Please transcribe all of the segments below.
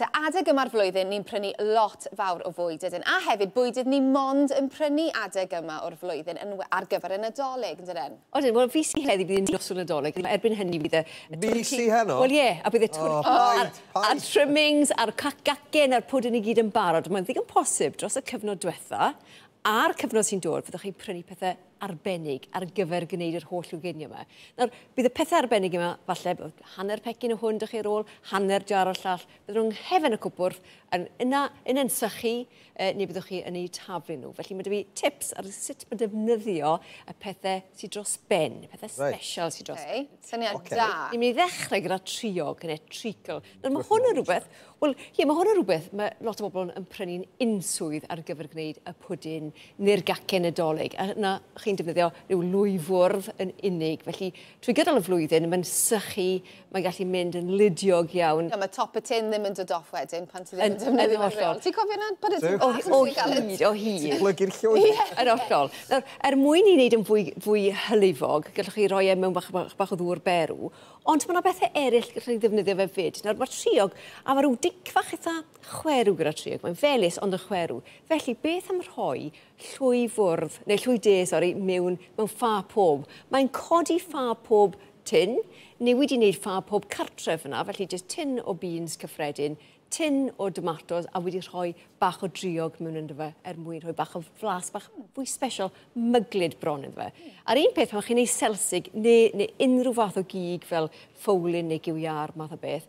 Te adeg yma'r flwyddyn ni'n prynu lot fawr o fwyd ydyn, a hefyd bwydydd ni mond yn prynu adeg yma o'r flwyddyn yn, ar gyfer y Nadolig, yn dydyn? Odyn, wel fi sy heddi bydd yn noswyl Nadolig. Erbyn hynny bydd y Fi sy heno? Wel ie, a bydd y twrci a'r trimmings a'r cacen a'r pwdin i gyd yn barod. Mae'n ddigon posib dros y cyfnod diwetha a'r cyfnod sy'n dod fyddwch chi'n prynu pethau arbennig ar gyfer gwneud yr holl ugeiniau yma. Nawr, bydd y pethau arbennig yma, falle hanner pecyn o hwn dych chi ar ôl, hanner jar o'r llall, bydden nhw'n nghefen y cwpwrdd, yn yna, yn sychu, neu byddwch chi yn eu taflu nhw. Felly mae 'da fi tips ar sut mae defnyddio y pethau sydd dros ben, y pethau special sydd dros ben. Syniad da. Ni'n mynd i ddechrau gyda triog neu treacle. Nawr, mae hwn yn rhywbeth, wel, ie, mae hwn yn rhywbeth mae lot o bobl yn prynu'n unswydd ar gyfer gwneud y pwdin neu'r gacen Nadolig. A yna chi'n defnyddio rhyw lwyfwrdd yn unig. Felly, trwy gydol y flwyddyn, mae'n sychu, mae'n gallu mynd yn ludiog iawn. Ja, mae top y tin ddim yn dod off wedyn pan ti ddim yn defnyddio fe'n reol. Ti'n cofio na bod y O hyd, o hyd. Ti'n plygu'r llwy. Yn hollol. Nawr, er mwyn i wneud yn fwy, fwy hylifog, gallwch chi roi e mewn bach, bach, bach o ddŵr berw, ond mae yna bethau eraill gallwch chi ddefnyddio fe fyd. Nawr, mae triog, a mae rhyw dic fach eitha chwerw gyda triog. Mae'n felys ond yn chwerw. Felly, beth am rhoi llwy fwrdd, neu llwy de, sori, mewn ffa pob. Mae'n codi ffa pob tin, neu wedi wneud ffa pob cartref yna, felly jyst tin o beans cyffredin, tin o tomatos, a wedi rhoi bach o driog mewn ynddo fe, er mwyn rhoi bach o flas, bach fwy special, myglyd bron iddo fe. A'r un peth, pan chi'n neud selsig, neu unrhyw fath o gig fel ffowlyn neu gyw iâr, math o beth,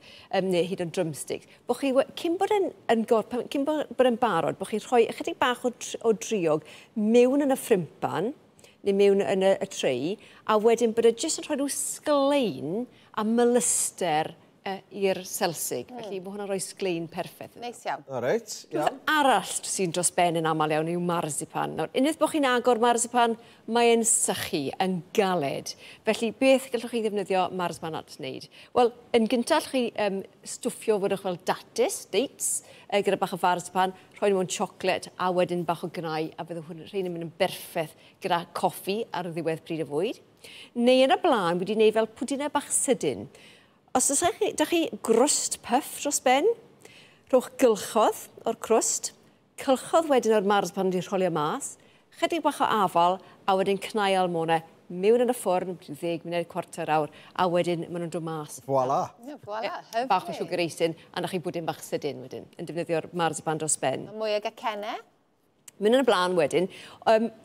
neu hyd yn drumsticks, bod chi, cyn bod yn, yn cyn bod yn barod, bod chi'n rhoi ychydig bach o driog mewn yn y ffrimpan, neu mewn yn y tray, a wedyn bod e jyst yn rhoi rhyw sglein a melyster i'r selsig. Felly mae hwnna'n rhoi sglein perffaith. Neis iawn. O reit, iawn. Rhywbeth arall sy'n dros ben yn aml iawn yw marzipan. Nawr, unwaith bod chi'n agor marzipan, mae'n sychu yn galed. Felly, beth gallwch chi ddefnyddio marzipan at wneud? Wel, yn gyntaf, allwch chi stwffio fwydwch fel dates, gyda bach o marzipan, rhoi nhw mewn siocled a wedyn bach o gnau, a bydd hwn rhain yn mynd yn berffaith gyda coffi ar ddiwedd pryd o fwyd. Neu yn y blaen, wedi gwneud fel pwdinau bach sydyn. Os oes da chi grwst puff dros ben, rhowch gylchodd o'r crwst, cylchodd wedyn o'r marzipan wedi rholio mas, chydig bach o afal, a wedyn cnau almone mewn yn y ffwrn, 10 munud, cwarter awr, a wedyn maen nhw'n dod mas. Voilà. Yeah, voilà, hyfryd. Bach o sugar icing, a na chi bwdin bach sydyn wedyn, yn defnyddio'r marzipan dros ben. Mwy o gacennau? Mynd yn y blaen wedyn,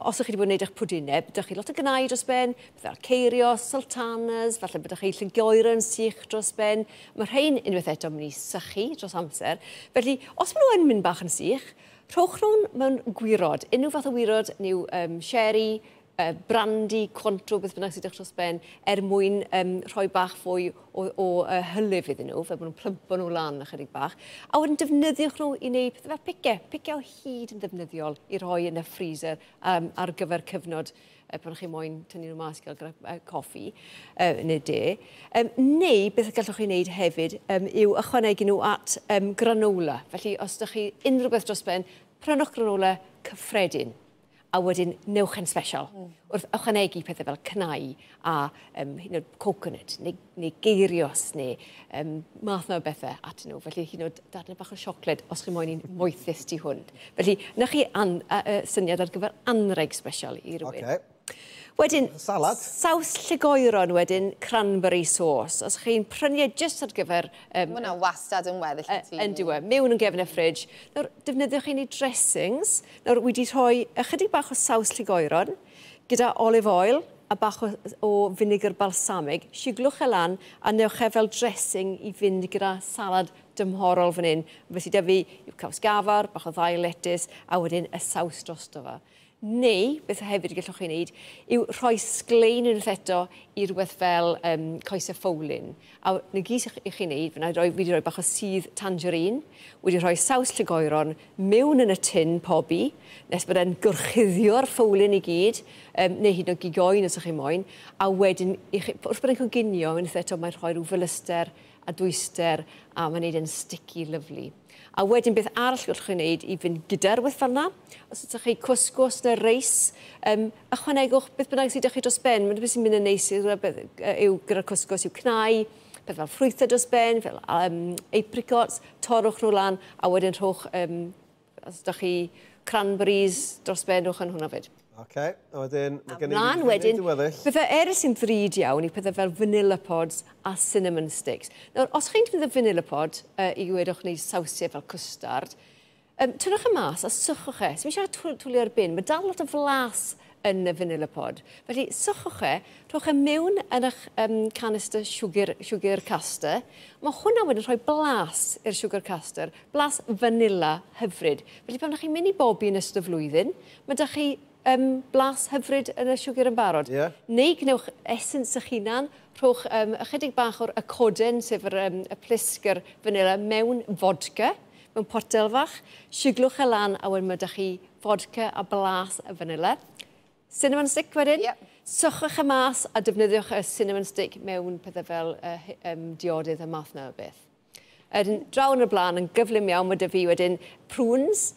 os ydych chi wedi bod yn gwneud eich pwdinau, byddwch chi lot o gnau dros ben, byddwch ceirios, sultanas, falle byddwch chi llygoeren sych dros ben. Mae rhain unwaith eto yn mynd i sychu dros amser. Felly, os maen nhw yn mynd bach yn sych, rhowch nhw'n mewn gwirod. Unrhyw fath o wirod, neu sherry, brandy, Cointreau, beth bynnag sydd dros ben, er mwyn rhoi bach fwy o hylif iddyn nhw, fel bod nhw'n plympo nhw lan ychydig bach. A wedyn defnyddiwch nhw i wneud pethau fel picau. Picau o hyd yn ddefnyddiol i rhoi yn y freezer ar gyfer cyfnod pan chi moyn tynnu nhw mas i gael gyda coffi neu de. Neu beth gallwch chi wneud hefyd yw ychwanegu nhw at granola. Felly os ydych chi unrhyw beth dros ben, prynwch granola cyffredin. A wedyn newch yn special. Wrth ychwanegu pethau fel cnau a hyd yn oed coconut neu geirios neu math yna o bethau atyn nhw. Felly hyd yn oed darnau bach o siocled os chi moyn un moethus tu hwnt. Felly na chi syniad ar gyfer anreg special i rywun. Okay. Wedyn, salad. Saws llygoeron wedyn, cranberry sauce. Os chi'n prynu e jyst ar gyfer... Mae hwnna wastad yn weddill y tŷ. Yn dyw e, mewn yn gefn y ffridge. Nawr, defnyddiwch chi'n ei dressings. Nawr, wedi rhoi ychydig bach o saws llygoeron gyda olive oil a bach o finegr balsamig. Siglwch e lan a newch e fel dressing i fynd gyda salad dymhorol fan hyn. Felly da fi yw caws gafar, bach o ddail letys, a wedyn y saws drosto fe. Neu, beth hefyd gallwch chi wneud, yw rhoi sglein unwaith eto i rhywbeth fel coesau ffowlyn. A na gyd i chi wneud, fi wedi rhoi bach o sudd tangerine, wedi rhoi saws llygoeron mewn yn y tin pobi, nes bod e'n gorchuddio'r ffowlyn i gyd, neu hyd yn oed gig oen os ydych chi moyn, a wedyn, wrth bod e'n coginio, unwaith eto mae'n rhoi rhyw felyster a dwyster, a mae'n neud e'n sticky lyfli. A wedyn beth arall gallwch chi wneud i fynd gyda'r rhywbeth fel yna, os ydych chi cwsgws neu reis, ychwanegwch beth bynnag sydd ydych chi dros ben. Mae'n beth sy'n mynd yn neis yw gyda'r cwsgws yw cnau, peth fel ffrwythau dros ben, fel apricots, torrwch nhw lan, a wedyn rhowch, os ydych chi cranberries dros ben, rhowch yn hwnna fyd. Oce, a wedyn, mae gen i Mlaen wedyn, pethau eraill sy'n ddrud iawn i pethau fel vanilla pods a cinnamon sticks. Nawr, os chi'n defnyddio vanilla pod i wedwch wneud sawsiau fel cwstard, tynnwch e mas a sychwch e. Sdim eisiau twlu ar bin, mae dal lot o flas yn y vanilla pod. Felly, sychwch e, rhowch e mewn yn eich canister sugar caster. Mae hwnna wedyn rhoi blas i'r sugar caster, blas vanilla hyfryd. Felly, pan ydych chi'n mynd i bobi yn ystod y flwyddyn, mae da chi blas hyfryd yn y siwgr yn barod. Neu gwnewch essence eich hunan, rhowch ychydig bach o'r coden, sef y plisg yr vanilla, mewn vodka, mewn potel fach, siglwch e lan a wedyn mae da chi vodka a blas y vanilla. Cinnamon stick wedyn. Sychwch e mas a defnyddiwch y cinnamon stick mewn pethau fel diodydd y math na o beth. Wedyn, draw yn y blaen yn gyflym iawn, mae 'da fi wedyn prunes.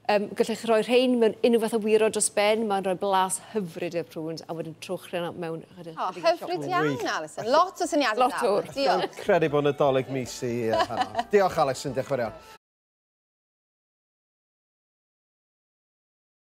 Gallech chi roi rhain mewn unrhyw fath o wirod dros ben, mae'n rhoi blas hyfryd i'r prunes, a wedyn trowch rhain mewn O, hyfryd iawn, Alison. Lot o syniadau. Lot o'r. Diolch. Credu bod Nadolig mis i heno. Diolch, Alison, diolch yn fawr iawn.